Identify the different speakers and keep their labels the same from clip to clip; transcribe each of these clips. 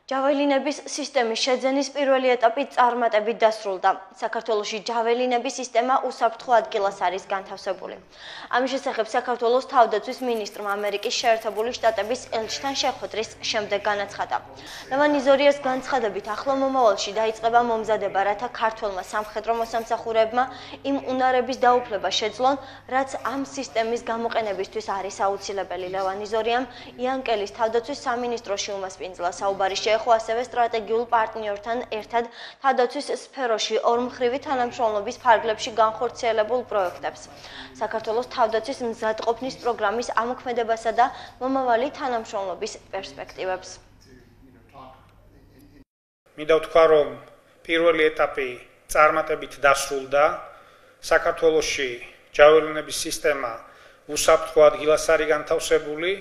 Speaker 1: ჯაველინების სისტემის შეძენის პირველი ეტაპი წარმატებით დასრულდა. საქართველოში ჯაველინების სისტემა უსაფრთხო ადგილას არის განთავსებული. ამის შესახებ საქართველოს თავდაცვის მინისტრმა ამერიკის შეერთებული შტატების ელჩთან შეხვედრის შემდეგ განაცხადა. ლევან იზორიას განცხადებით ახლო მომავალში დაიწყება მომზადება, რათა ქართველმა სამხედრო მოსამსახურეებმა იმ უნარების დაუფლება შეძლონ, რაც ამ სისტემის გამოყენებისთვის არის აუცილებელი. ლევან იზორიამ იანკელის თავდაცვის სამინისტროში უმასპინძლა საუბარი ხო ასევე სტრატეგიულ პარტნიორთან ერთად თავდაცვის სფეროში ორმხრივი თანამშრომლობის ფარგლებში განხორციელებულ პროექტებს, საქართველოს თავდაცვის მზადყოფნის პროგრამის ამოქმედებასა და მომავალი თანამშრომლობის პერსპექტივებს.
Speaker 2: მინდა ვთქვა, რომ პირველი ეტაპი წარმატებით დასრულდა. საქართველოში ჯაველინების სისტემა უსაფრთხო ადგილას არის განთავსებული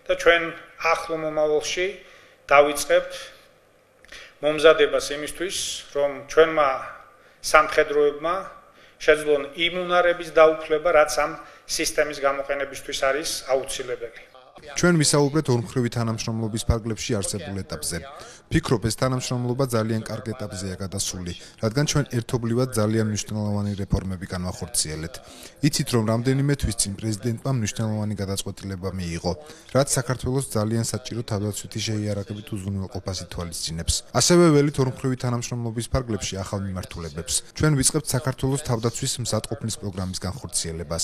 Speaker 2: და ჩვენ ახლო მომავალში დავიწყებთ მომზადებას იმისთვის, რომ ჩვენმა სამხედროებმა შეძლონ იმ უნარების დაუფლება, რაც ამ სისტემის გამოყენებისთვის არის აუცილებელი.
Speaker 3: ჩვენ ვისაუბრეთ ორმხრივი თანამშრომლობის ფარგლებში არსებულ ეტაპზე. ვფიქრობ, ეს თანამშრომლობა ძალიან კარგ ეტაპზეა გადასული, რადგან ჩვენ ერთობლივად ძალიან მნიშვნელოვანი რეფორმები განვახორციელეთ. იცით, რომ რამდენიმე თვის წინ პრეზიდენტმა მნიშვნელოვანი გადაწყვეტილება მიიღო, რაც საქართველოს ძალიან საჭირო თავდაცვითი შეიარაღებით უზრუნველყოფას ითვალისწინებს. ასევე ველით ორმხრივი თანამშრომლობის ფარგლებში ახალ მიმართულებებს. ჩვენ ვიწყებთ საქართველოს თავდაცვის მზადყოფნის პროგრამის განხორციელებას.